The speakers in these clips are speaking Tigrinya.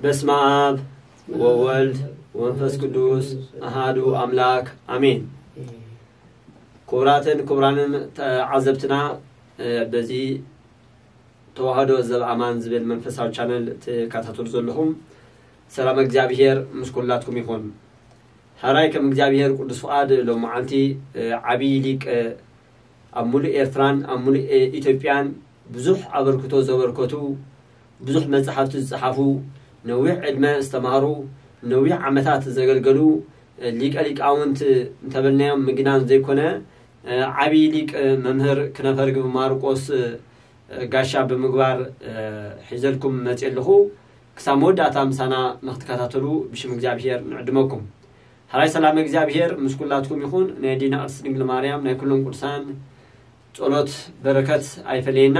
በስመ አብ ወወልድ ወመንፈስ ቅዱስ አሃዱ አምላክ አሜን። ክቡራትን ክቡራንን ተዓዘብትና፣ እ፣ በዚ ተዋህዶ ዘበኣማን ዝብል መንፈሳዊ ቻነል ትከታተሉ ዘለኹም፣ ሰላም እግዚኣብሔር ምስ ኩላትኩም ይኹን። ሕራይ ከም እግዚኣብሔር ቅዱስ ፍቓድ ሎመዓልቲ፣ እ፣ ዓብዪ ሊቅ፣ እ፣ ኣብ ሙሉእ ኤርትራን ኣብ ሙሉእ፣ እ፣ ኢትዮጵያን ብዙሕ ኣበርክቶ ዘበርከቱ፣ ብዙሕ መጻሕፍቲ ዝጸሓፉ፣ ነዊሕ ዕድመ ዝተማህሩ፣ ነዊሕ ዓመታት ዘገልገሉ፣ እ፣ ሊቀ ሊቃውንት እንተበልናዮም ምግናን ዘይኮነ፣ እ፣ ዓብዪ ሊቅ፣ እ፣ መምህር ክነፈርግብ ማርቆስ፣ እ፣ ጋሻ ብምግባር፣ እ፣ ሒዘልኩም መጽእ ኣለኹ። ክሳብ መወዳእታ ምሳና ንክትከታተሉ ብሽም እግዚኣብሔር ንዕድመኩም። ሕራይ ሰላም እግዚኣብሔር ምስ ኩላትኩም ይኹን። ናይ ኣዴና ቅድስት ድንግል ማርያም፣ ናይ ኩሎም ቅዱሳን ጸሎት በረከት ኣይፈለየና።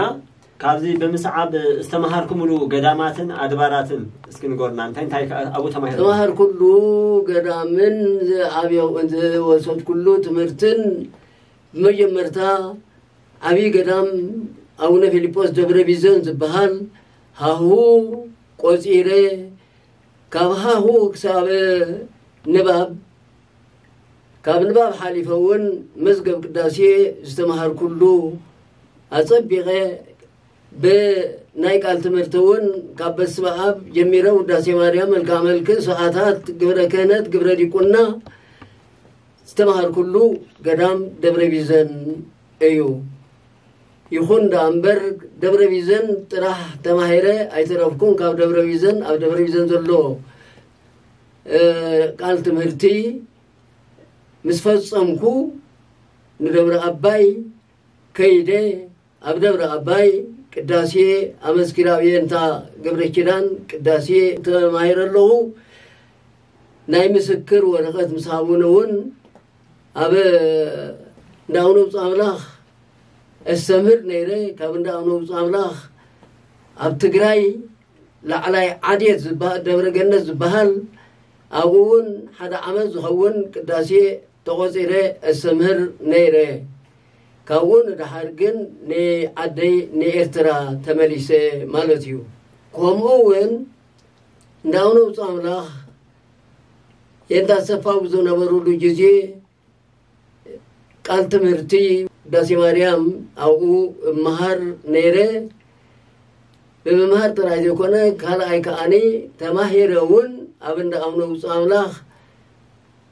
ካብዚ ብምስዓብ ዝተመሃርኩምሉ ገዳማትን ኣድባራትን እስኪ ንገሩና። እንታይ እንታይ ከ ኣብኡ ተማሂርኩም? ዝተመሃርኩሉ ገዳምን ዝዓብየ-፣ ዝወሰድኩሉ ትምህርትን ብመጀመርታ ዓብዪ ገዳም ኣቡነ ፊልጶስ ደብረ ቢዘን ዝበሃል ሃሁ ቆጺረ፣ ካብ ሃሁ ክሳብ ንባብ፣ ካብ ንባብ ሓሊፈ እውን መዝገብ ቅዳሴ ዝተመሃርኩሉ ኣጸቢቐ፣ ብናይ ቃል ትምህርቲ እውን ካብ በስመ ኣብ ጀሚረ ውዳሴ ማርያም፣ መልክዓ መልክእ፣ ሰዓታት፣ ግብረ ክህነት፣ ግብረ ዲቁና ዝተመሃርኩሉ ገዳም ደብረ ቢዘን እዩ። ይኹን ደኣ እምበር ደብረ ቢዘን ጥራሕ ተማሂረ ኣይተረፍኩን። ካብ ደብረ ቢዘን፣ ኣብ ደብረ ቢዘን ዘሎ፣ እ፣ ቃል ትምህርቲ ምስ ፈጸምኩ ንደብረ ኣባይ ከይደ፣ ኣብ ደብረ ኣባይ ቅዳሴ ኣመስኪረ፣ ኣብ የንታ ገብረ ኪዳን ቅዳሴ ተማሂረ ኣለኹ። ናይ ምስክር ወረቐት ምስ ሃቡኒ እውን ኣብ እንዳ ኣቡነ ብፁዕ ኣምላኽ እስተምህር ነይረ። ካብ እንዳ ኣቡነ ብፁዕ ኣምላኽ ኣብ ትግራይ ላዕላይ ዓዴት ዝበሃል፣ ደብረ ገነት ዝበሃል፣ ኣብኡ እውን ሓደ ዓመት ዝኸውን ቅዳሴ ተቖጺረ እስተምህር ነይረ። ካብኡ ንደሓር ግን ንዓደይ ንኤርትራ ተመሊሰ ማለት እዩ። ከምኡ እውን እንዳ ኣቡነ ብፁዕ ኣምላኽ የንታ ሰፋው ዝነበሩሉ ግዜ ቃል ትምህርቲ ውዳሴ ማርያም ኣብኡ እመሃር ነይረ። ብምምሃር ጥራይ ዘይኮነ፣ ካልኣይ ከኣኒ ተማሂረ እውን ኣብ እንዳ ኣቡነ ብፁዕ ኣምላኽ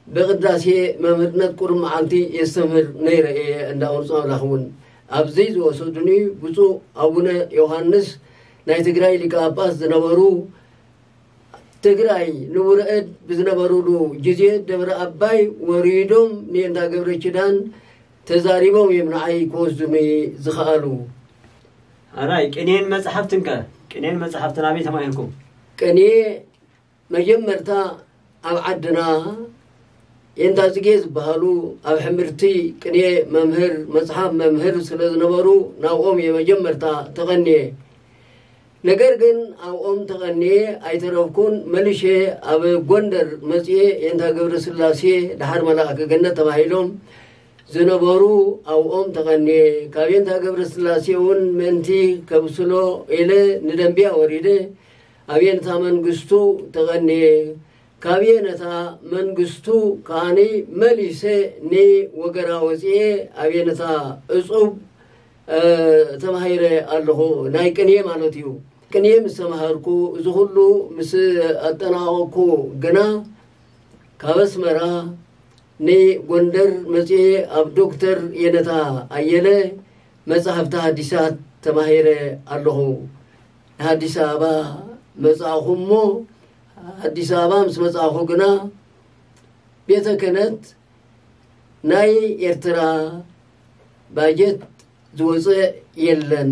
ብቅዳሴ መምህርነት ቁሩብ መዓልቲ የስተምህር ነይረ እየ። እንዳ ኣቡነ ብፁዕ ኣምላኽ እውን ኣብዚ ዝወሰዱኒ ብፁዕ ኣቡነ ዮሃንስ ናይ ትግራይ ሊቀ ጳጳስ ዝነበሩ፣ ትግራይ ንቡረ እድ ብዝነበሩሉ ግዜ ደብረ ኣባይ ወሪዶም ንየንታ ገብረ ኪዳን ተዛሪቦም እዮም ንዓይ ክወስዱኒ ዝኸኣሉ። ኣራይ ቅኔን መጽሓፍትን ከ? ቅኔን መጽሓፍትን ኣበይ ተማሂርኩም? ቅኔ መጀመርታ ኣብ ዓድና የንታ ጽጌ ዝበሃሉ ኣብ ሕምርቲ ቅኔ መምህር፣ መጽሓፍ መምህር ስለ ዝነበሩ ናብኦም እየ መጀመርታ ተቐንየ። ነገር ግን ኣብኦም ተቐንየ ኣይተረፍኩን። መሊሸ ኣብ ጎንደር መጽየ የንታ ገብረ ስላሴ፣ ደሓር መልኣከ ገነት ተባሂሎም ዝነበሩ ኣብኦም ተቐንየ። ካብ የንታ ገብረ ስላሴ እውን ምእንቲ ከብስሎ ኢለ ንደንቢያ ወሪደ ኣብ የንታ መንግስቱ ተቐንየ። ካብ የነታ መንግስቱ ከኣኒ መሊሰ ንወገራ ወፅኤ ኣብ የነታ እፁብ፣ እ፣ ተማሂረ ኣለኹ። ናይ ቅኔ ማለት እዩ። ቅኔ ምስ ተማሃርኩ፣ እዚ ኩሉ ምስ ኣጠናቐቕኩ ግና ካብ ኣስመራ ንጎንደር መፅኤ ኣብ ዶክተር የነታ ኣየለ መጻሕፍቲ ሓዲሳት ተማሂረ ኣለኹ። ንኣዲስ ኣበባ መጻእኹ እሞ፣ ኣዲስ ኣበባ ምስ መጻእኹ ግና ቤተ ክህነት ናይ ኤርትራ ባጀት ዝወጸ የለን፣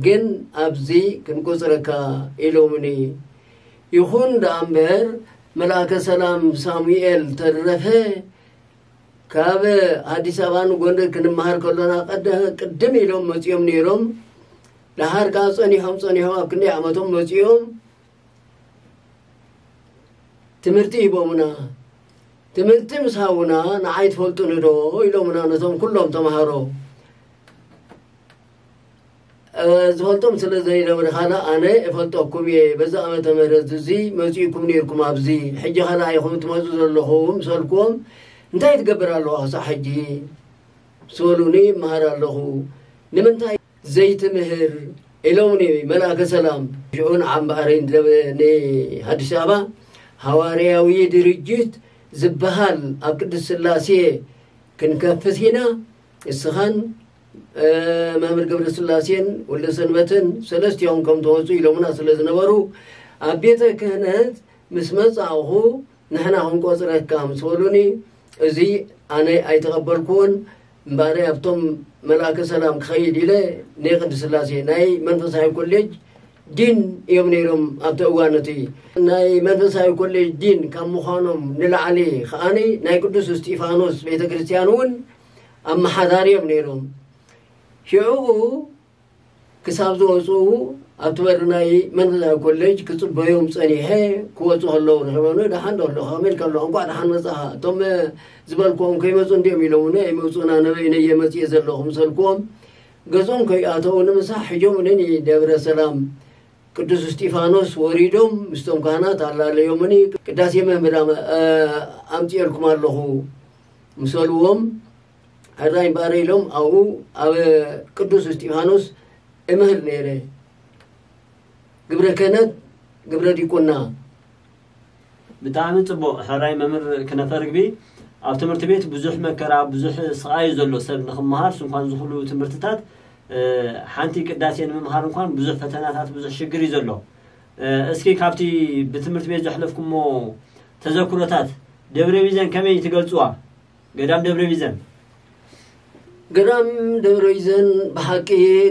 ግን ኣብዚ ክንቆጽረካ ኢሎምኒ። ይኹን ደኣ እምበር፣ መልኣከ ሰላም ሳሙኤል ተረፈ ካብ ኣዲስ ኣበባ ንጎንደር ክንመሃር ከሎና ቀደ-፣ ቅድም ኢሎም መጺኦም ነይሮም። ደሓር ከኣ ጸኒሖም፣ ጸኒሖም ኣብ ክንደይ ዓመቶም መጺኦም ትምህርቲ ሂቦምና። ትምህርቲ ምስ ሃቡና፣ ንዓይ ትፈልጡኒ ዶ? ኢሎምና ነቶም ኩሎም ተምሃሮ። ዝፈልጦም ስለ ዘይነበረ፣ ካላ ኣነ እፈልጠኩም እየ፣ በዛ ዓመተ ምህረት እዚ መጺእኩም ነይርኩም፣ ኣብዚ ሕጂ ካላ ኢኹም ትመጹ ዘለኹም፣ ሰልኩም እንታይ ትገብር ኣለዋ ክሳዕ ሕጂ? ስበሉኒ፣ ይመሃር ኣለኹ። ንምንታይ ዘይትምህር? ኢሎምኒ መልኣከ ሰላም። ሽዑ ንዓምባረይ ንኣዲስ ኣበባ ሃዋርያዊ ድርጅት ዝበሃል ኣብ ቅድስት ስላሴ ክንከፍት ኢና፣ እስኻን መምህር ገብረ ስላሴን ወልደ ሰንበትን ሰለስቲኦም ከም ተወፁ ኢሎምና ስለ ዝነበሩ፣ ኣብ ቤተ ክህነት ምስ መጻእኹ ንሕና ክንቆጽረካ ምስ በሉኒ፣ እዚ ኣነ ኣይተቐበልኩዎን። እምበኣር ኣብቶም መልኣከ ሰላም ክኸይድ ኢለ ናይ ቅድስት ስላሴ ናይ መንፈሳዊ ኮሌጅ ዲን እዮም ነይሮም ኣብቲ እዋን። እቲ ናይ መንፈሳዊ ኮሌጅ ዲን ካብ ምዃኖም ንላዕሊ ከዓኒ ናይ ቅዱስ እስጢፋኖስ ቤተ ክርስቲያን እውን ኣመሓዳሪ እዮም ነይሮም። ሽዑ ክሳብ ዝወፁ ኣብቲ በሪ ናይ መንፈሳዊ ኮሌጅ ክፅበዮም ፀኒሐ። ክወፁ ከለዉ ረኺቦም፣ ደሓን ዶ ኣለኹ? ከመይ ኢልካ ኣለኹ? እንኳዕ ደሓን መፃኻ። እቶም ዝበልክዎም ከይመፁ እንዲዮም ኢሎም እውን ኣይመፁን። ኣነ በይነየ መፅየ ዘለኹ ምሰልክዎም። ገዞም ከይኣተዉ ንምሳሕ ሒጆም ንኒ ደብረ ሰላም ቅዱስ እስጢፋኖስ ወሪዶም ምስቶም ካህናት ኣላለዮምኒ። ቅዳሴ መምህር ኣምፅኤልኩም ኣለኹ ምሰልዎም። ሕራይ እምበኣር ኢሎም ኣብኡ ኣብ ቅዱስ እስጢፋኖስ እምህር ነይረ። ግብረ ክህነት፣ ግብረ ዲቁና። ብጣዕሚ ጽቡቕ። ሕራይ መምህር ክነፈ ርግቢ፣ ኣብ ትምህርቲ ቤት ብዙሕ መከራ፣ ብዙሕ ስቓይ እዩ ዘሎ። ሰብ ንኽመሃር ስንኳን ዝኹሉ ትምህርትታት፣ ሓንቲ ቅዳሴ ንምምሃር እንኳን ብዙሕ ፈተናታት፣ ብዙሕ ሽግር እዩ ዘሎ። እስኪ ካብቲ ብትምህርቲ ቤት ዘሕለፍኩሞ ተዘክሮታት፣ ደብረ ቢዘን ከመይ ትገልጽዋ? ገዳም ደብረ ቢዘን። ገዳም ደብረ ቢዘን ብሓቂ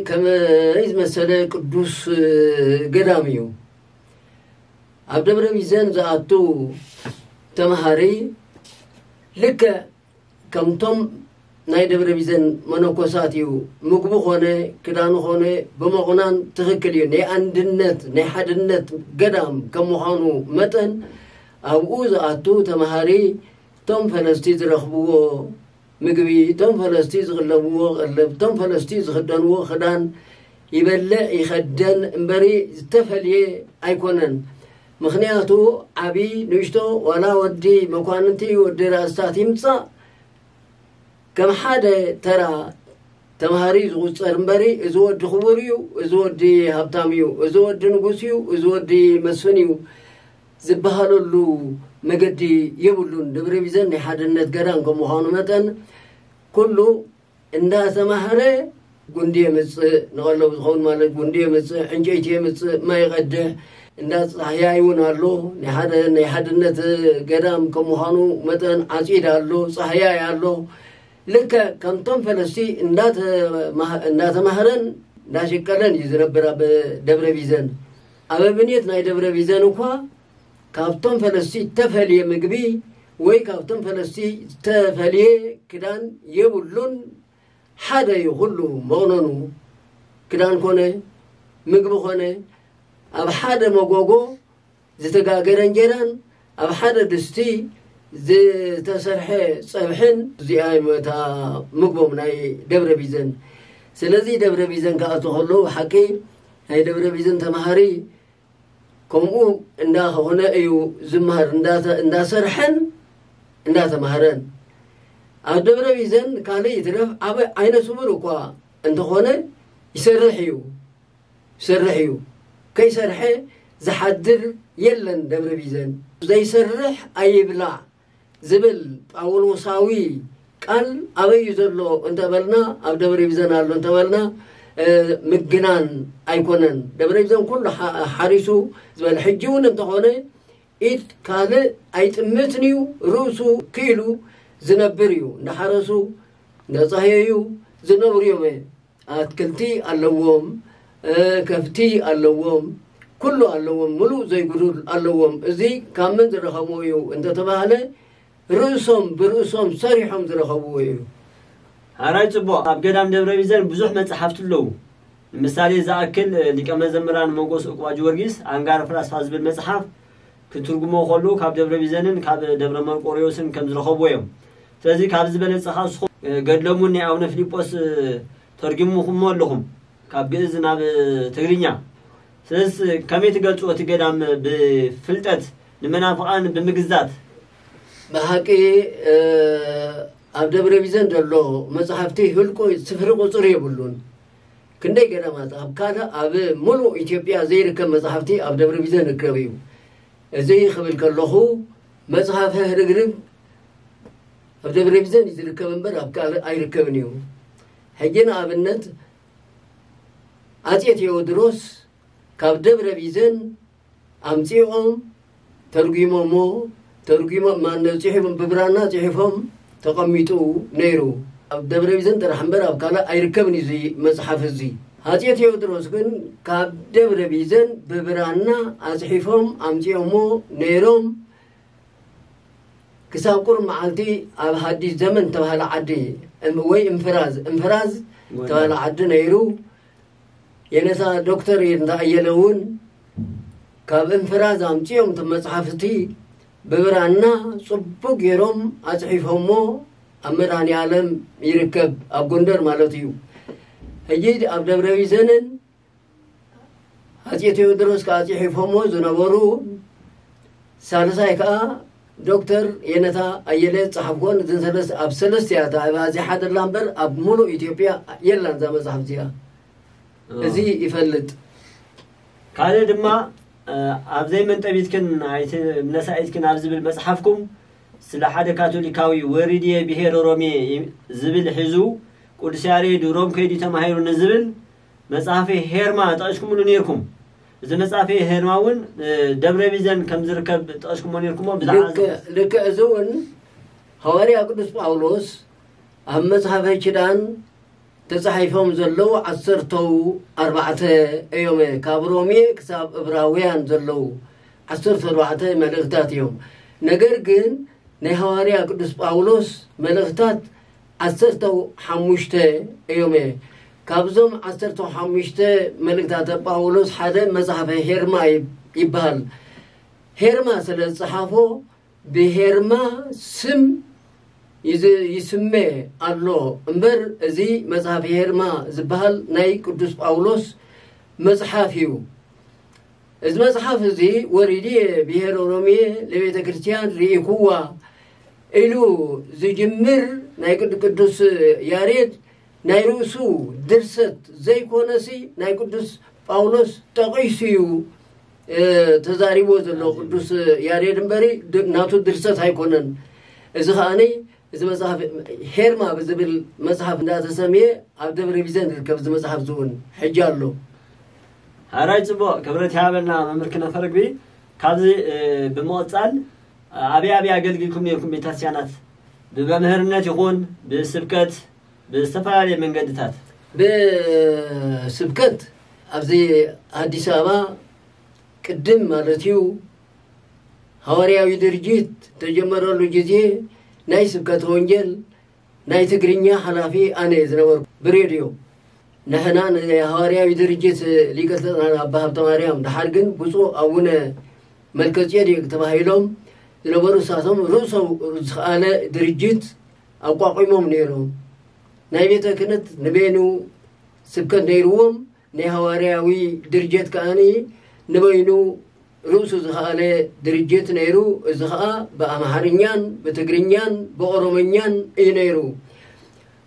ከመይ ዝመሰለ ቅዱስ ገዳም እዩ። ኣብ ደብረ ቢዘን ዝኣቱ ተምሃሪ ልክዕ ከምቶም ናይ ደብረ ቢዘን መነኮሳት እዩ። ምግቡ ኾነ ክዳኑ ኾነ ብምቑናን ትኽክል እዩ። ናይ ኣንድነት ናይ ሓድነት ገዳም ከም ምዃኑ መጠን ኣብኡ ዝኣቱ ተምሃሪ እቶም ፈለስቲ ዝረኽብዎ ምግቢ፣ እቶም ፈለስቲ ዝቕለብዎ ቀለብ፣ እቶም ፈለስቲ ዝኽደንዎ ክዳን ይበልዕ ይኸደን እምበሪ ዝተፈልየ ኣይኮነን። ምኽንያቱ ዓቢ ንእሽቶ ዋላ ወዲ መኳንንቲ ወዲ ራእስታት ይምጻእ ከም ሓደ ተራ ተምሃሪ ዝቑጸር እምበሪ፣ እዚ ወዲ ክቡር እዩ፣ እዚ ወዲ ሃብታም እዩ፣ እዚ ወዲ ንጉስ እዩ፣ እዚ ወዲ መስፍን እዩ ዝበሃለሉ መገዲ የብሉን። ደብረ ቢዘን ናይ ሓድነት ገዳም ከም ምዃኑ መጠን ኩሉ እንዳተማህረ ጉንዲ የምጽእ፣ ንቐለቡ ዝኸውን ማለት ጉንዲ የምጽእ፣ ዕንጨይቲ የምጽእ፣ ማይ ይቐድሕ፣ እንዳ ጻህያይ እውን ኣሎ። ናይ ሓደ ናይ ሓድነት ገዳም ከም ምዃኑ መጠን ዓጺድ ኣሎ፣ ጻህያይ ኣሎ። ልክዕ ከምቶም ፈለስቲ እንዳተማህ- እንዳተማህረን እንዳሸቀለን እዩ ዝነብር ኣብ ደብረ ቢዘን። ኣብ ኣብኔት ናይ ደብረ ቢዘን እኳ ካብቶም ፈለስቲ ዝተፈልየ ምግቢ ወይ ካብቶም ፈለስቲ ዝተፈልየ ክዳን የብሉን። ሓደ እዩ ኩሉ መቑነኑ፣ ክዳን ኮነ ምግቢ ኮነ ኣብ ሓደ መጎጎ ዝተጋገረ እንጀራን ኣብ ሓደ ድስቲ ዝተሰርሐ ጸብሕን እዚኣ እታ ምግቦም ናይ ደብረ ቢዘን። ስለዚ ደብረ ቢዘን ክኣቱ ከሎ ሓቂ ናይ ደብረ ቢዘን ተምሃሪ ከምኡ እንዳኾነ እዩ ዝምሃር፣ እንዳተ- እንዳሰርሐን እንዳተምሃረን። ኣብ ደብረ ቢዘን ካልእ ይትረፍ ኣብ ዓይነ ስውር እኳ እንተኾነ ይሰርሕ እዩ፣ ይሰርሕ እዩ። ከይሰርሐ ዝሓድር የለን ደብረ ቢዘን። ዘይሰርሕ ኣይብላዕ ዝብል ጳውሎሳዊ ቃል ኣበይ እዩ ዘሎ እንተበልና፣ ኣብ ደብረ ቢዘን ኣሎ እንተበልና ምግናን ኣይኮነን። ደብረ ቢዘን ኩሉ ሓሪሱ ዝበል ሕጂ እውን እንተኾነ ኢድ ካልእ ኣይጥምትን እዩ፣ ርእሱ ክኢሉ ዝነብር እዩ። እንዳሓረሱ እንዳጻህየዩ ዝነብሩ እዮም። ኣትክልቲ ኣለዎም፣ ከፍቲ ኣለዎም፣ ኩሉ ኣለዎም፣ ምሉእ ዘይጉዱል ኣለዎም። እዚ ካብ መን ዝረኸብዎ እዩ እንተተባህለ ርእሶም ብርእሶም ሰሪሖም ዝረኸብዎ እዩ። ሓራይ ጽቡቕ። ኣብ ገዳም ደብረ ቢዘን ብዙሕ መጽሓፍቲ ኣለዉ። ንምሳሌ ዝኣክል ሊቀ መዘምራን ሞጎስ ዕቁባ ጊዮርጊስ ኣንጋር ፍላስፋ ዝብል መጽሓፍ ክትርጉሞ ከሉ ካብ ደብረ ቢዘንን ካብ ደብረ መርቆሪዎስን ከም ዝረኸብዎ እዮም። ስለዚ ካብ ዝበለጸኻ እስኹም ገድሎምን ናይ ኣቡነ ፊልጶስ ተርጊሙኹሞ ኣለኹም። ካብ ግእዝ ናብ ትግርኛ። ስለዚ ከመይ ትገልጽዎ እቲ ገዳም ብፍልጠት ንመናፍቓን ብምግዛት? ብሓቂ ኣብ ደብረ ቢዘን ዘሎ መጽሓፍቲ ህልቆ ስፍሪ ቁጽሪ የብሉን። ክንደይ ገዳማት ኣብ ካልእ ኣብ ሙሉእ ኢትዮጵያ ዘይርከብ መጽሓፍቲ ኣብ ደብረ ቢዘን ይርከብ እዩ። እዚ ክብል ከለኹ መጽሓፈ ህርግርግ ኣብ ደብረ ቢዘን እዩ ዝርከብ እምበር ኣብ ካልእ ኣይርከብን እዩ። ሕጂ ንኣብነት ኣጼ ቴዎድሮስ ካብ ደብረ ቢዘን ኣምጺኦም ተርጒሞሞ፣ ተርጒሞም ማነው ጽሒፎም ብብራና ጽሒፎም ተቐሚጡ ነይሩ። ኣብ ደብረ ቢዘን ጥራሕ እምበር ኣብ ካልእ ኣይርከብን እዩ እዚ መጽሓፍ እዚ። ኣጼ ቴዎድሮስ ግን ካብ ደብረ ቢዘን ብብራና ኣጽሒፎም ኣምጺኦሞ ነይሮም። ክሳብ ቁሩብ መዓልቲ ኣብ ሃዲስ ዘመን ተባህለ ዓዲ እም- ወይ እንፍራዝ እንፍራዝ ተባህለ ዓዲ ነይሩ። የነሳ ዶክተር ይርንታ ኣየለ እውን ካብ እንፍራዝ ኣምጺኦም እቲ መጽሓፍቲ ብብራና ጽቡቅ ገይሮም ኣጽሒፎሞ ኣብ መድኃኔ ዓለም ይርከብ ኣብ ጎንደር ማለት እዩ። ሕጂ ኣብ ደብረ ቢዘንን ኣጼ ቴዎድሮስ ከዓ ጽሒፎሞ ዝነበሩ ሳልሳይ ከዓ ዶክተር የነታ ኣየለ ጸሓፍኮን እዝን ሰለስተ ኣብ ሰለስተ እያ ተባሂባ። እዚ ሓደ ላ እምበር ኣብ ሙሉእ ኢትዮጵያ የላን እዛ መጽሓፍ እዚኣ። እዚ ይፈልጥ። ካልእ ድማ ኣብ ዘይመንጠቢትክን ኣይትምነሳኢትክን ኣብ ዝብል መጽሓፍኩም ስለ ሓደ ካቶሊካዊ ወሪድየ ብሄር ኦሮሜ ዝብል ሒዙ ቅዱስ ያሬድ ሮም ከይዱ ተማሂሩ ንዝብል መጽሓፈ ሄርማ ጠቒስኩምሉ ነይርኩም። እዚ መጽሓፈ ሄርማ እውን ደብረ ቢዘን ከም ዝርከብ ጠቒስኩሞ ነይርኩሞ። ብዛዕባ ልክዕ እዚ እውን ሃዋርያ ቅዱስ ጳውሎስ ኣብ መጽሓፈ ኪዳን ተጻሒፎም ዘለዉ ዓሰርተው ኣርባዕተ እዮም። ካብ ሮሜ ክሳብ እብራውያን ዘለዉ ዓሰርተ ኣርባዕተ መልእኽታት እዮም። ነገር ግን ናይ ሃዋርያ ቅዱስ ጳውሎስ መልእኽታት ዓሰርተው ሓሙሽተ እዮም። ካብዞም ዓሰርተው ሓሙሽተ መልእኽታተ ጳውሎስ ሓደ መጽሓፈ ሄርማ ይብ- ይበሃል። ሄርማ ስለ ዝጸሓፎ ብሄርማ ስም ይዝ- ይስመ ኣሎ እምበር እዚ መጽሓፍ ሄርማ ዝበሃል ናይ ቅዱስ ጳውሎስ መጽሓፍ እዩ። እዚ መጽሓፍ እዚ ወሪድየ ብሄር ኦሮምየ ለቤተ ክርስቲያን ርኢኩዋ ኢሉ ዝጅምር ናይ ቅዱ ቅዱስ ያሬድ ናይ ርእሱ ድርሰት ዘይኮነሲ ናይ ቅዱስ ጳውሎስ ጠቒሱ እዩ ተዛሪቦ ዘሎ ቅዱስ ያሬድ እምበሪ ናቱ ድርሰት ኣይኮነን። እዚ ከዓኒ እዚ መጽሓፍ ሄርማ ብዝብል መጽሓፍ እንዳተሰምየ ኣብ ደብረ ቢዘን ዝርከብ እዚ መጽሓፍ ዝውን ሕጂ ኣሎ። ሓራይ ጽቡቕ ክብረት ይሃበልና መምህር ክነፈርግቢ። ካብዚ ብምቕጻል ኣበይ ኣበይ ኣገልግልኩም ነርኩም ቤተክርስትያናት ብመምህርነት ይኹን ብስብከት ብዝተፈላለየ መንገድታት? ብስብከት ኣብዚ ኣዲስ ኣበባ ቅድም ማለት እዩ ሃዋርያዊ ድርጅት ተጀመረሉ ግዜ ናይ ስብከተ ወንጌል ናይ ትግርኛ ሓላፊ ኣነ ዝነበርኩ ብሬድዮ ንሕና ንሃዋርያዊ ድርጅት ሊቀ ልሳን ኣባ ሃብተ ማርያም ድሓር ግን ብፁዕ ኣቡነ መልከጼዴቅ ተባሂሎም ዝነበሩ እሳቶም ርእሶም ዝኸኣለ ድርጅት ኣቋቒሞም ነይሮም። ናይ ቤተ ክህነት ንበይኑ ስብከት ነይርዎም ናይ ሃዋርያዊ ድርጀት ከኣኒ ንበይኑ ርእሱ ዝኸኣለ ድርጅት ነይሩ። እዚ ኸኣ ብኣምሓርኛን ብትግርኛን ብኦሮሞኛን እዩ ነይሩ።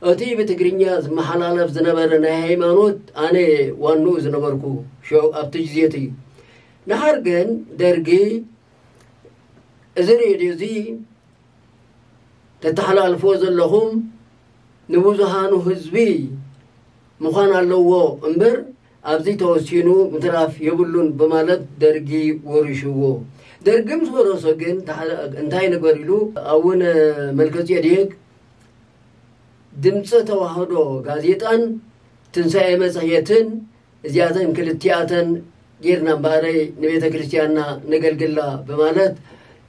እቲ ብትግርኛ ዝመሓላለፍ ዝነበረ ናይ ሃይማኖት ኣነ ዋንኡ ዝነበርኩ ሽዑ ኣብቲ ግዜ እቲ። ድሓር ግን ደርጊ እዚ ሬድዮ እዚ ተተሓላልፍዎ ዘለኹም ንብዙሃኑ ህዝቢ ምዃን ኣለዎ እምበር ኣብዚ ተወሲኑ ምትራፍ የብሉን ብማለት ደርጊ ወሪሽዎ። ደርጊ ምስ ወረሶ ግን እንታይ ንግበር ኢሉ ኣቡነ መልከጼዴቅ ድምፀ ተዋህዶ ጋዜጣን ትንሳኤ መፅሄትን እዚኣተን ክልቲኣተን ጌርና እምበኣረይ ንቤተ ክርስቲያንና ነገልግላ ብማለት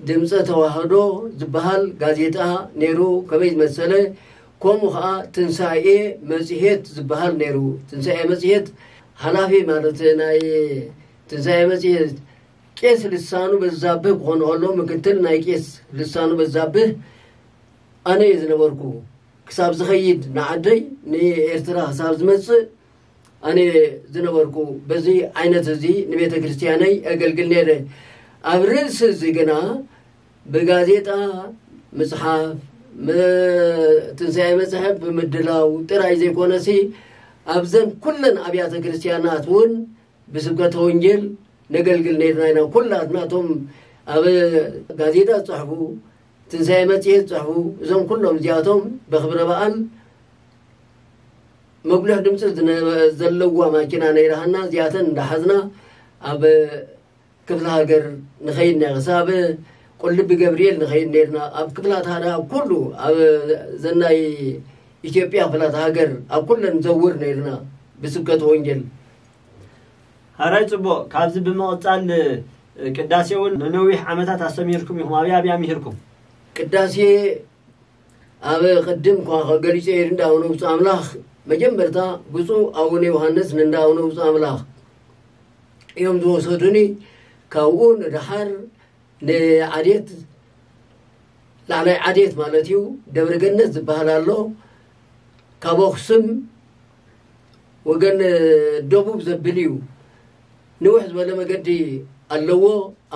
ድምፀ ተዋህዶ ዝበሃል ጋዜጣ ነይሩ። ከመይ ዝመሰለ ከምኡ ከዓ ትንሳኤ መፅሄት ዝበሃል ነይሩ። ትንሳኤ መፅሄት ሓላፊ ማለት ናይ ትንሳኤ መፅሄት ቄስ ልሳኑ በዛብህ ክኾኑ ከሎ ምክትል ናይ ቄስ ልሳኑ በዛብህ ኣነ እየ ዝነበርኩ። ክሳብ ዝኸይድ ንዓደይ ንኤርትራ ክሳብ ዝመፅእ ኣነ ዝነበርኩ። በዚ ዓይነት እዚ ንቤተ ክርስቲያነይ ኣገልግል ነይረ። ኣብ ርእሲ እዚ ግና ብጋዜጣ ምጽሓፍ፣ ም-፣ ትንሳኤ መጽሓፍ ብምድላው ጥራይ ዘይኮነሲ፣ ኣብዘን ኩለን ኣብያተ ክርስቲያናት እውን ብስብከተ ወንጌል ነገልግል ነይርና ኢና። ኩላትና እቶም ኣብ ጋዜጣ ዝጽሕፉ፣ ትንሳኤ መጽሔት ዝጽሕፉ፣ እዞም ኩሎም እዚኣቶም ብክብረ በዓል መጉልሕ ድምፂ ዝነ-፣ ዘለዋ ማኪና ነይራሃና። እዚኣተን እንዳሓዝና ኣብ ክፍለ ሃገር ንኸይድ ነ-፣ ክሳብ ቁልቢ ገብርኤል ንኸይድ ነይርና። ኣብ ክፍላት ሃገር፣ ኣብ ኩሉ፣ ኣብ ዘናይ ኢትዮጵያ ክፍላት ሃገር፣ ኣብ ኩለን ዘውር ነይርና ብስብከት ወንጌል። ሃራይ ጽቡቕ። ካብዚ ብምቕጻል፣ ቅዳሴ እውን ንነዊሕ ዓመታት ኣስተምሂርኩም ኢኹም። ኣብያ ኣብያ ምሂርኩም? ቅዳሴ ኣብ ቅድም እኳ ገሊጸ እየ፣ እንዳ ኣቡነ ብፁዕ ኣምላኽ፣ መጀመርታ ብፁዕ ኣቡነ ዮሃንስ ንእንዳ ኣቡነ ብፁዕ ኣምላኽ እዮም ዝወሰዱኒ። ካብኡ ንደሓር ንዓዴት፣ ላዕላይ ዓዴት ማለት እዩ፣ ደብረ ገነት ዝበሃል ኣሎ። ካብ ኣኽሱም ወገን ደቡብ ዘብል እዩ። ንውሕ ዝበለ መገዲ ኣለዎ።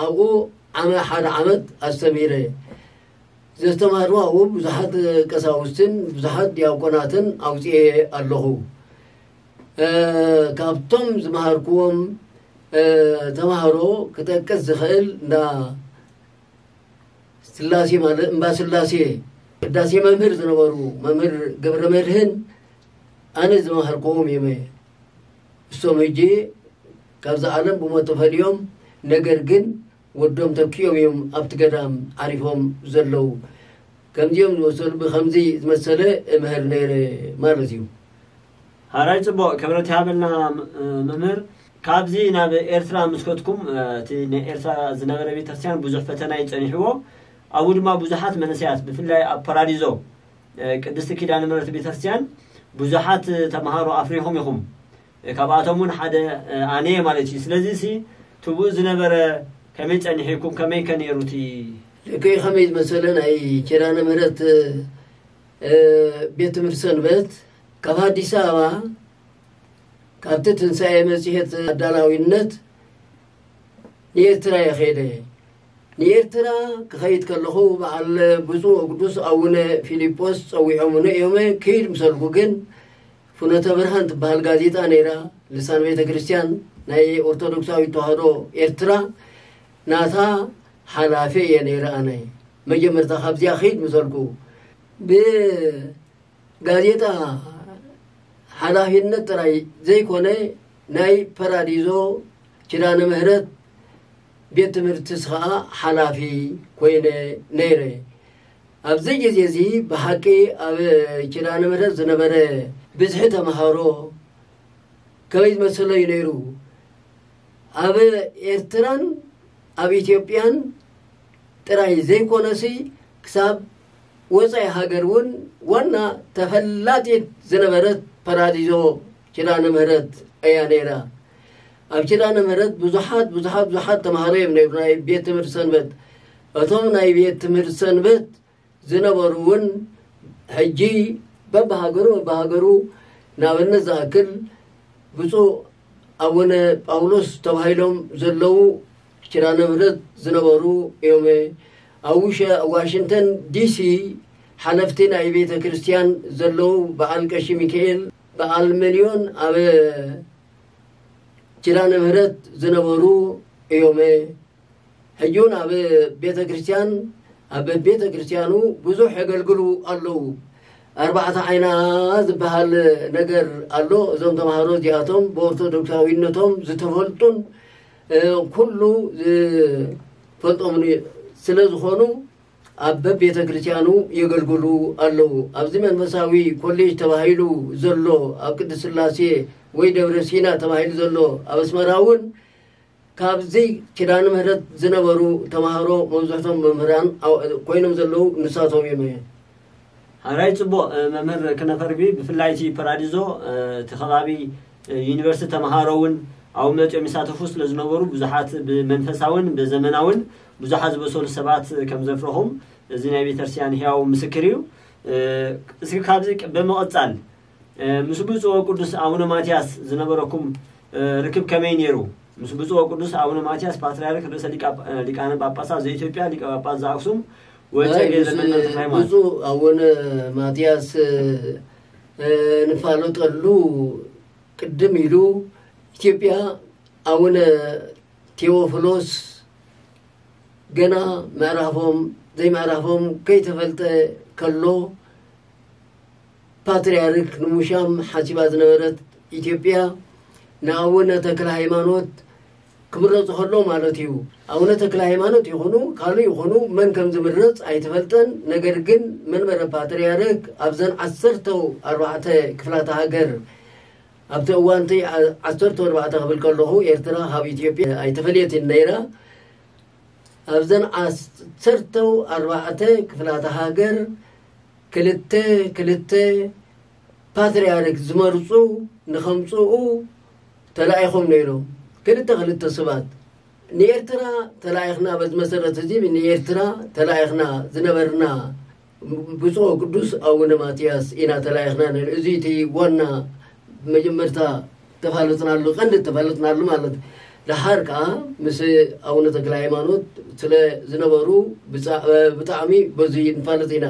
ኣብኡ ዓመ-፣ ሓደ ዓመት ኣስተምሂረ። ዘስተምሃርዋ ኣብኡ ብዙሓት ቀሳውስትን ብዙሓት ዲያቆናትን ኣውፅኤ ኣለኹ። እ፣ ካብቶም ዝመሃርክዎም፣ እ፣ ተምሃሮ ክጠቅስ ዝኽእል እንዳ ስላሴ ማለት እምባ ስላሴ ቅዳሴ መምህር ዝነበሩ መምህር ገብረ መድህን ኣነ ዝመሃርክዎም እዮም። እሶም ሕጂ ካብዛ ዓለም ብሞት ተፈልዮም፣ ነገር ግን ወዶም ተኪኦም እዮም ኣብቲ ገዳም ዓሪፎም ዘለዉ። ከምዚኦም ዝመሰሉ፣ ብኸምዚ ዝመሰለ እምህር ነይረ ማለት እዩ። ሃራይ ጽቡቕ፣ ክብረት ይሃበልና። ም-፣ መምህር፣ ካብዚ ናብ ኤርትራ ምስ ከድኩም፣ እቲ ናይ ኤርትራ ዝነበረ ቤተክርስትያን ብዙሕ ፈተና እዩ ጸኒሕዎ። ኣብኡ ድማ ብዙሓት መንእሰያት፣ ብፍላይ ኣብ ፓራዲዞ ቅድስቲ ኪዳነ ምሕረት ቤተክርስትያን ብዙሓት ተምሃሮ ኣፍሪኹም ኢኹም። ካብኣቶም እውን ሓደ ኣነ እየ ማለት እዩ። ስለዚ ሲ ትብኡ ዝነበረ ከመይ ጸኒሕኩም? ከመይ ከ ነይሩ እቲ? ልክዕ ከመይ ዝመሰለ ናይ ኪዳነ ምሕረት፣ እ፣ ቤት ትምህርቲ ሰንበት ካብ ኣዲስ ኣበባ፣ ካብቲ ትንሳኤ መጽሔት ኣዳላዊነት ንኤርትራ እየ ከይደ። ንኤርትራ ክኸይድ ከለኹ በዓል ብፁዕ ወቅዱስ ኣቡነ ፊልጶስ ጸዊዖምኒ እዮም። ክይድ ምሰልኩ ግን ፍኖተ ብርሃን ትበሃል ጋዜጣ ነይራ፣ ልሳን ቤተ ክርስቲያን ናይ ኦርቶዶክሳዊት ተዋህዶ ኤርትራ፣ ናታ ሓላፊ እየ ነይረ ኣነ። መጀመርታ ካብዚኣ ክይድ ምሰልኩ ብጋዜጣ ሓላፊነት ጥራይ ዘይኮነ፣ ናይ ፓራዲዞ ኪዳነ ምህረት ቤት ትምህርትስ ኸኣ ሓላፊ ኮይነ ነይረ። ኣብዚ ግዜ እዚ ብሓቂ ኣብ ኪዳነ ምህረት ዝነበረ ብዝሒ ተምሃሮ ከመይ ዝመሰለ እዩ ነይሩ? ኣብ ኤርትራን ኣብ ኢትዮጵያን ጥራይ ዘይኮነሲ፣ ክሳብ ወጻኢ ሃገር እውን ዋና ተፈላጢት ዝነበረት ፓራዲዞ ኪዳነ ምህረት እያ ነይራ። ኣብ ኪዳነ ምህረት ብዙሓት፣ ብዙሓት፣ ብዙሓት ተምሃሮ እዮም ነይሩ፣ ናይ ቤት ትምህርቲ ሰንበት። እቶም ናይ ቤት ትምህርቲ ሰንበት ዝነበሩ እውን ሕጂ በብሃገሩ፣ በብሃገሩ፣ ንኣብነት ዝኣክል ብፁዕ ኣቡነ ጳውሎስ ተባሂሎም ዘለዉ ኪዳነ ምህረት ዝነበሩ እዮም። ኣብ ውሸ-፣ ዋሽንግተን ዲሲ ሓለፍቲ ናይ ቤተ ክርስቲያን ዘለዉ በዓል ቀሺ ሚካኤል፣ በዓል መልዮን ኣብ ኪዳነ ምህረት ዝነበሩ እዮም። ሕጂ እውን ኣብ ቤተ ክርስቲያን፣ ኣብ ቤተ ክርስቲያኑ ብዙሕ የገልግሉ ኣለዉ። ኣርባዕተ ዓይና ዝበሃል ነገር ኣሎ። እዞም ተምሃሮ እዚኣቶም ብኦርቶዶክሳዊነቶም ዝተፈልጡን፣ እ፣ ኩሉ ዝፈልጦምን ስለ ዝኾኑ ኣብ በቤተ ክርስቲያኑ የገልግሉ ኣለዉ። ኣብዚ መንፈሳዊ ኮሌጅ ተባሂሉ ዘሎ ኣብ ቅድስት ሥላሴ ወይ ደብረ ሲና ተባሂሉ ዘሎ ኣብ ኣስመራ እውን ካብዚ ኪዳነ ምህረት ዝነበሩ ተምሃሮ መብዝሕቶም መምህራን ኣው-፣ ኮይኖም ዘለዉ ንሳቶም እዮም። ሓራይ ጽቡቕ፣ እ፣ መምህር ክነፈርቢ፣ ብፍላይ እቲ ፓራዲዞ፣ እ፣ እቲ ከባቢ፣ እ፣ ዩኒቨርሲቲ ተምሃሮ እውን ኣብኡ መጺኦም ይሳተፉ ስለ ዝነበሩ ብዙሓት ብመንፈሳውን ብዘመናውን ብዙሓት ዝበሰሉ ሰባት ከም ዘፍረኹም እዚ ናይ ቤተክርስትያን ህያው ምስክር እዩ። እ፣ እስኪ ካብዚ ቅ-፣ ብምቕጻል ምስ ብፁዕ ወቅዱስ ኣቡነ ማትያስ ዝነበረኩም ርክብ ከመይ ነይሩ? ምስ ብፁዕ ወቅዱስ ኣቡነ ማትያስ ፓትርያርክ ርእሰ ሊቃነ ጳጳሳት ዘኢትዮጵያ፣ ሊቀ ጳጳስ ዘኣክሱም ወጨጌ ዘመንበረ ተክለ ሃይማኖት። ብፁዕ ኣቡነ ማትያስ ንፋለጠሉ ቅድም ኢሉ ኢትዮጵያ ኣቡነ ቴዎፍሎስ ገና ምዕራፎም ዘይምዕራፎም ከይተፈልጠ ከሎ ፓትርያርክ ንሙሻም ሓሲባ ዝነበረት ኢትዮጵያ ንኣቡነ ተክለ ሃይማኖት ክምረፁ ከሎ ማለት እዩ። ኣቡነ ተክለ ሃይማኖት ይኹኑ ካልእ ይኹኑ መን ከም ዝምረፅ ኣይተፈልጠን። ነገር ግን መንበረ ፓትርያርክ ኣብዘን ዓሰርተው ኣርባዕተ ክፍላተ ሃገር ኣብቲ እዋንቲ ዓሰርተ ኣርባዕተ ክብል ከለኹ ኤርትራ ካብ ኢትዮጵያ ኣይተፈልየትን ነይራ። ኣብዘን ዓሰርተው ኣርባዕተ ክፍላተ ሃገር ክልተ ክልተ ፓትርያርክ ዝመርፁ ንኸምፅኡ ተላኢኾም ነይሮም። ክልተ ክልተ ሰባት ንኤርትራ ተላኢኽና፣ በዚ መሰረት እዚ ንኤርትራ ተላኢኽና ዝነበርና ብፁዕ ቅዱስ ኣቡነ ማትያስ ኢና ተላኢኽና ነይሩ። እዚ እቲ ዋና መጀመርታ ተፋለጥናሉ፣ ቀንዲ ተፋለጥናሉ ማለት። ደሓር ከዓ ምስ ኣቡነ ተክለ ሃይማኖት ስለ ዝነበሩ ብጣዕሚ በዚ ንፋለጥ ኢና።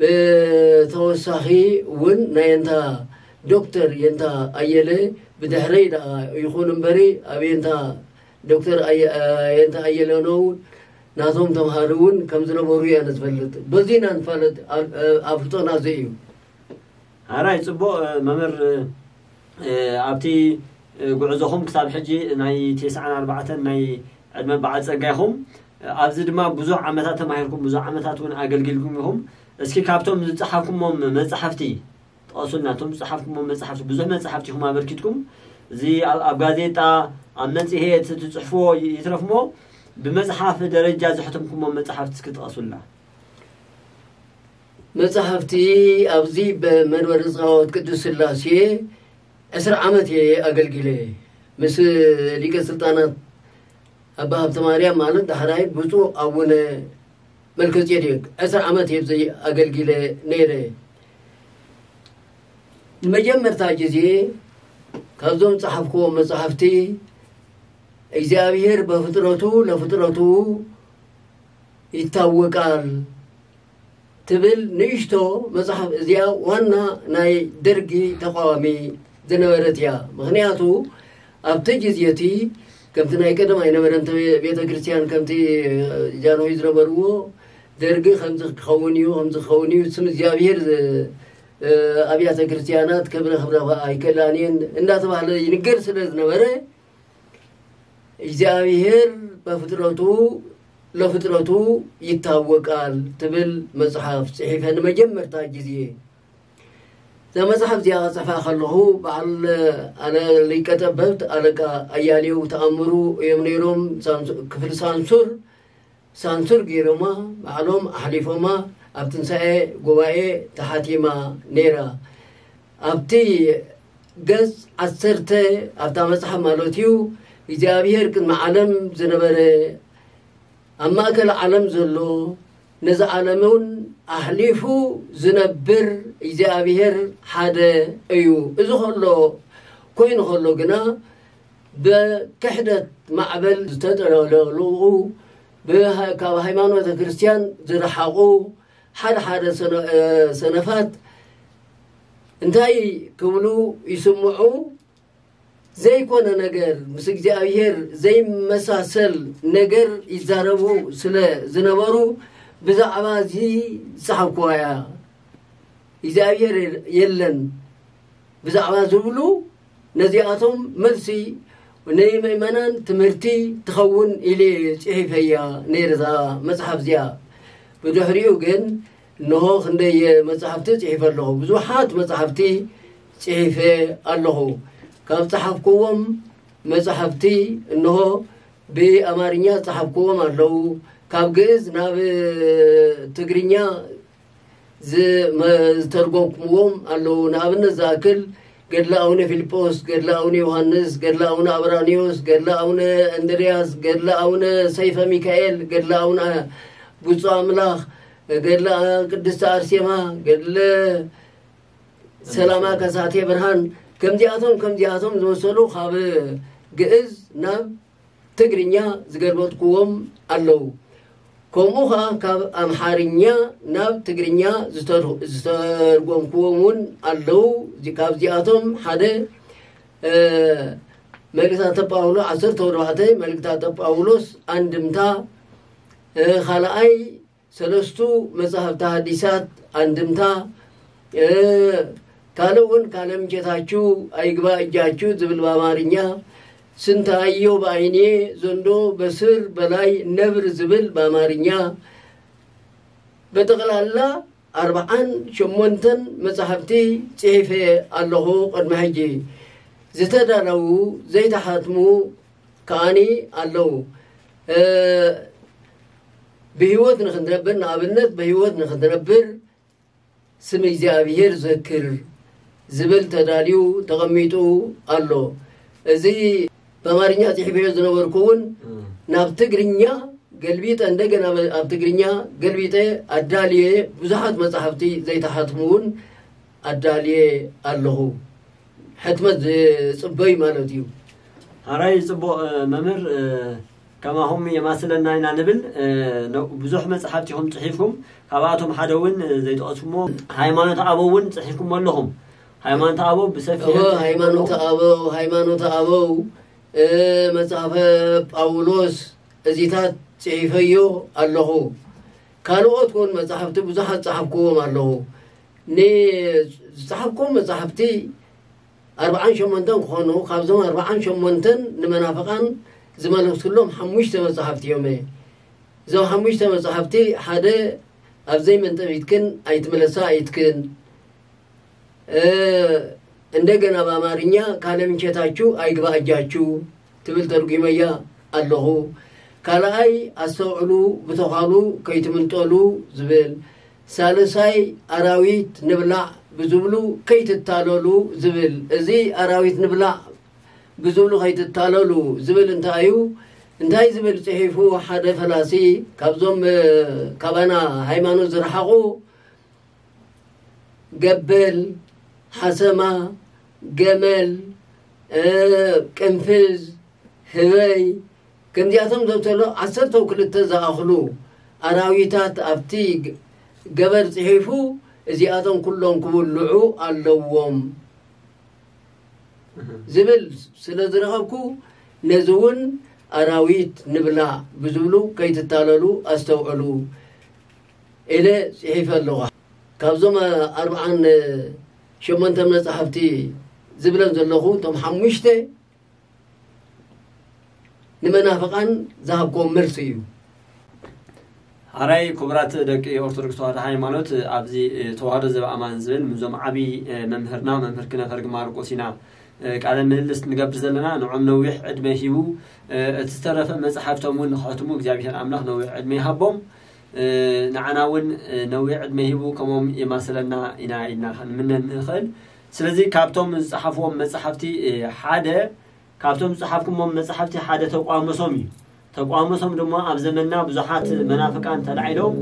ብተወሳኺ እውን ናይ የንታ ዶክተር የንታ ኣየለ ብድሕረይ ደኣ ይኹን እምበሪ ኣብ የንታ ዶክተር የንታ ኣየለ ነው ናቶም ተምሃሪ እውን ከም ዝነበሩ እየ ዝፈልጥ። በዚ ኢና ንፋለጥ። ኣፍልጦና እዚ እዩ። ኣራይ ጽቡቕ መምህር፣ ኣብቲ ጉዕዞኹም ክሳብ ሕጂ ናይ ተስዓን ኣርባዕተን ናይ ዕድመ በዓል ጸጋ ኢኹም። ኣብዚ ድማ ብዙሕ ዓመታት ተማሂርኩም፣ ብዙሕ ዓመታት እውን ኣገልጊልኩም ኢኹም። እስኪ ካብቶም ዝጸሓፍኩሞም መጻሕፍቲ ጥቐሱልና። እቶም ዝጸሓፍኩሞም መጻሕፍቲ፣ ብዙሕ መጻሕፍቲ ኢኹም ኣበርኪትኩም። እዚ ኣብ ጋዜጣ፣ ኣብ መጽሔት ትጽሕፍዎ ይትረፍሞ፣ ብመጽሓፍ ደረጃ ዘሕተምኩሞም መጻሕፍቲ እስኪ ጥቐሱልና። መጻሕፍቲ ኣብዚ ብመንበረ ጸባዖት ቅድስት ስላሴ ዕስራ ዓመት እየ ኣገልጊለ። ምስ ሊቀ ስልጣናት ኣባ ሃብተ ማርያም ማለት ዳሕራይ ብፁዕ ኣቡነ መልከጼዴቅ ዕስራ ዓመት እየ ኣብዚ ኣገልጊለ ነይረ። ንመጀመርታ ግዜ ካብዞም ጸሓፍክዎም መጻሕፍቲ እግዚኣብሔር በፍጥረቱ ለፍጥረቱ ይታወቃል ትብል ንእሽቶ መጽሓፍ እዚኣ ዋና ናይ ደርጊ ተቃዋሚ ዝነበረት እያ። ምኽንያቱ ኣብቲ ግዜ እቲ ከምቲ ናይ ቀደም ኣይነበረን ቤተ ክርስቲያን ከምቲ ጃንሆይ ዝነበርዎ ደርጊ ከምዚ ክኸውን እዩ ከምዚ ክኸውን እዩ ስም እግዚኣብሔር ኣብያተ ክርስቲያናት ክብረ ክብረ ኣይከላን እየን እንዳተባህለ ይንገር ስለ ዝነበረ እግዚኣብሔር በፍጥረቱ ለፍጥረቱ ይታወቃል ትብል መጽሓፍ ጽሒፈ ንመጀመርታ ግዜ። እዛ መጽሓፍ እዚኣ ክጽሕፋ ከለኹ በዓል ኣለ ሊቀ ጠበብት ኣለቃ ኣያሌው ተኣምሩ እዮም ነይሮም። ሳንሱ- ክፍሊ ሳንሱር ሳንሱር ገይሮማ ባዕሎም ኣሕሊፎማ ኣብ ትንሳኤ ጉባኤ ተሓቲማ ነይራ። ኣብቲ ገጽ ዓሰርተ ኣብታ መጽሓፍ ማለት እዩ እግዚኣብሔር ቅድሚ ዓለም ዝነበረ ኣብ ማእከል ዓለም ዘሎ ነዚ ዓለም እውን ኣሕሊፉ ዝነብር እግዚኣብሔር ሓደ እዩ። እዚ ከሎ ኮይኑ ከሎ ግና ብክሕደት ማዕበል ዝተጠለለቑ ካብ ሃይማኖተ ክርስቲያን ዝረሓቑ ሓደ ሓደ ሰነፋት እንታይ ክብሉ ይስምዑ? ዘይኮነ ነገር ምስ እግዚኣብሔር ዘይመሳሰል ነገር ይዛረቡ ስለ ዝነበሩ ብዛዕባ እዚ ዝጸሓፍኩዋ እያ። እግዚኣብሔር የለን ብዛዕባ ዝብሉ ነዚኣቶም መልሲ ናይ ምእመናን ትምህርቲ ትኸውን ኢለ ጽሒፈያ ነይረ እዛ መጽሓፍ እዚኣ። ብድሕሪኡ ግን እንሆ ክንደይ መጽሓፍቲ ጽሒፈ ኣለኹ። ብዙሓት መጽሓፍቲ ጽሒፈ ኣለኹ። ካብ ጸሓፍኩዎም መጽሓፍቲ እንሆ ብኣማርኛ ዝጸሓፍኩዎም ኣለዉ። ካብ ግእዝ ናብ ትግርኛ ዝተርጎምኩዎም ኣለዉ። ንኣብነት ዝኣክል ገድለ ኣቡነ ፊልጶስ፣ ገድለ ኣቡነ ዮሃንስ፣ ገድለ ኣቡነ ኣብራኒዮስ፣ ገድለ ኣቡነ እንድርያስ፣ ገድለ ኣቡነ ሰይፈ ሚካኤል፣ ገድለ ኣቡነ ብፁዕ ኣምላኽ፣ ገድለ ቅድስቲ ኣርሴማ፣ ገድለ ሰላማ ከሳቴ ብርሃን፣ ከምዚኣቶም ከምዚኣቶም ዝመሰሉ ካብ ግእዝ ናብ ትግርኛ ዝገልበጥኩዎም ኣለዉ። ከምኡ ኸዓ ካብ ኣምሓርኛ ናብ ትግርኛ ዝተር-፣ ዝተርጎምኩዎም እውን ኣለዉ። እዚ-፣ ካብዚኣቶም ሓደ፣ እ፣ መልእክታተ ጳውሎ-፣ ዓሰርተ ኣርባዕተ መልእክታተ ጳውሎስ ኣንድምታ፣ እ፣ ካልኣይ ሰለስቱ መጻሕፍቲ ሓዲሳት ኣንድምታ፣ እ፣ ካልእ እውን ካለም ጌታችሁ አይግባ እጃችሁ ዝብል ብኣማርኛ፣ ስንታየው በአይኔ ዘንዶ በስር በላይ ነብር ዝብል ብኣማርኛ፣ ብጠቕላላ ኣርብዓን ሸሞንተን መጻሕፍቲ ጽሒፈ ኣለኹ። ቅድሚ ሕጂ ዝተዳለዉ ዘይተሓትሙ ከኣኒ ኣለዉ። እ፣ ብህይወት ንኽንነብር፣ ንኣብነት ብህይወት ንኽንነብር ስም እግዚኣብሔር ዘክር ዝብል ተዳልዩ ተቐሚጡ ኣሎ። እዚ ብኣማርኛ ጽሒፈዮ ዝነበርኩ እውን እም። ናብ ትግርኛ ገልቢጠ፣ እንደገና ኣብ ትግርኛ ገልቢጠ ኣዳልየ፣ ብዙሓት መጻሕፍቲ ዘይተሓትሙ እውን ኣዳልየ ኣለኹ። ሕትመት ዝጽበዩ ማለት እዩ። ሓራይ ጽቡቕ፣ እ፣ መምህር፣ እ፣ ከማኹም የማስለና ኢና ንብል። እ፣ ነ-፣ ብዙሕ መጽሓፍቲ ኢኹም ጽሒፍኩም፣ ካብኣቶም ሓደ እውን፣ እ፣ ዘይጠቐስኩሞ ሃይማኖት ኣበው እውን ጽሒፍኩም ኣለኹም። ሃይማኖት ኣበው ብሰፊሕ እወ፣ ሃይማኖት ኣበው፣ ሃይማኖት ኣበው፣ እ፣ መጽሓፈ ጳውሎስ እዚታት ጽሒፈዮ ኣለኹ። ካልኦት እውን መጽሓፍቲ ብዙሓት ጸሓፍኩዎም ኣለኹ። ን-፣ ዝጸሓፍኩዎም መጽሓፍቲ ኣርብዓን ሸሞንተን ክኾኑ፣ ካብዞም ኣርብዓን ሸሞንተን ንመናፍቓን ዝመለስኩሎም ሓሙሽተ መጽሓፍቲ እዮም። እዞም ሓሙሽተ መጽሓፍቲ ሓደ ኣብ ዘይመንጠቢትክን ኣይትመለሳ ኣይትክን፣ እ፣ እንደገና ብኣማርኛ ካለ ምንቸታችሁ አይግባ እጃችሁ ትብል ተርጉመያ ኣለኹ። ካልኣይ ኣስተውዕሉ ብተዃሉ ከይትምንጠሉ ዝብል፣ ሳልሳይ ኣራዊት ንብላዕ ብዝብሉ ከይትታለሉ ዝብል። እዚ ኣራዊት ንብላዕ ብዝብሉ ከይትታለሉ ዝብል እንታይ እዩ? እንታይ ዝብል ጽሒፉ ሓደ ፈላሲ ካብዞም፣ እ፣ ካባና ሃይማኖት ዝረሓቑ፣ ገበል፣ ሓሰማ፣ ገመል፣ እ፣ ቅንፍዝ፣ ህበይ፣ ከምዚኣቶም ዘብተሎ ዓሰርተው ክልተ ዝኣኽሉ ኣራዊታት ኣብቲ ገ-፣ ገበር ጽሒፉ፣ እዚኣቶም ኩሎም ክብልዑ ኣለዎም እህ። ዝብል ስለ ዝረኸብኩ፣ ነዚ እውን ኣራዊት ንብላዕ ብዝብሉ ከይትታለሉ ኣስተውዕሉ ኢለ ጽሒፈ ኣለኹ። ካብዞም ኣርብዓን ሸሞንተን መጻሕፍቲ ዝብለን ዘለኹ፣ እቶም ሓሙሽተ ንመናፍቓን ዝሃብክዎም መልሲ እዩ። ሓራይ ክቡራት ደቂ ኦርቶዶክስ ተዋህዶ ሃይማኖት፣ ኣብዚ፣ እ፣ ተዋህዶ ዘበኣማን ዝብል ምስዞም ዓብዪ፣ እ፣ መምህርና መምህር ክነፈርግ ማርቆስ ኢና፣ እ፣ ቃለ ምልልስ ንገብር ዘለና። ንዖም ነዊሕ ዕድመ ሂቡ፣ እ፣ እቲ ዝተረፈ መጽሓፍቶም እውን ንኸሕትሙ እግዚኣብሔር ኣምላኽ ነዊሕ ዕድመ ይሃቦም። እ፣ ንዓና እውን፣ እ፣ ነዊሕ ዕድመ ሂቡ ከምኦም የማስለና ኢና ኢልና ክንምነ ንኽእል። ስለዚ ካብቶም ዝጸሓፍዎም መጻሕፍቲ፣ እ፣ ሓደ ካብቶም ዝጸሓፍኩሞም መጻሕፍቲ ሓደ ተቋምሶም እዩ። ተቋምሶም ድማ ኣብ ዘመንና ብዙሓት መናፍቃን ተላዒሎም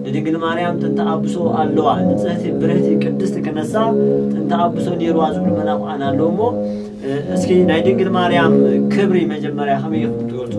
ንድንግል ማርያም ጥንተ ኣብሶ ኣለዋ፣ ንጽህቲ ብርህቲ ቅድስቲ ክነሳ ጥንተ ኣብሶ ነይርዋ ዝብሉ መናፍቃን ኣለዉ እሞ፣ እ፣ እስኪ ናይ ድንግል ማርያም ክብሪ መጀመርያ ከመይ ኢኹም ትገልጹ?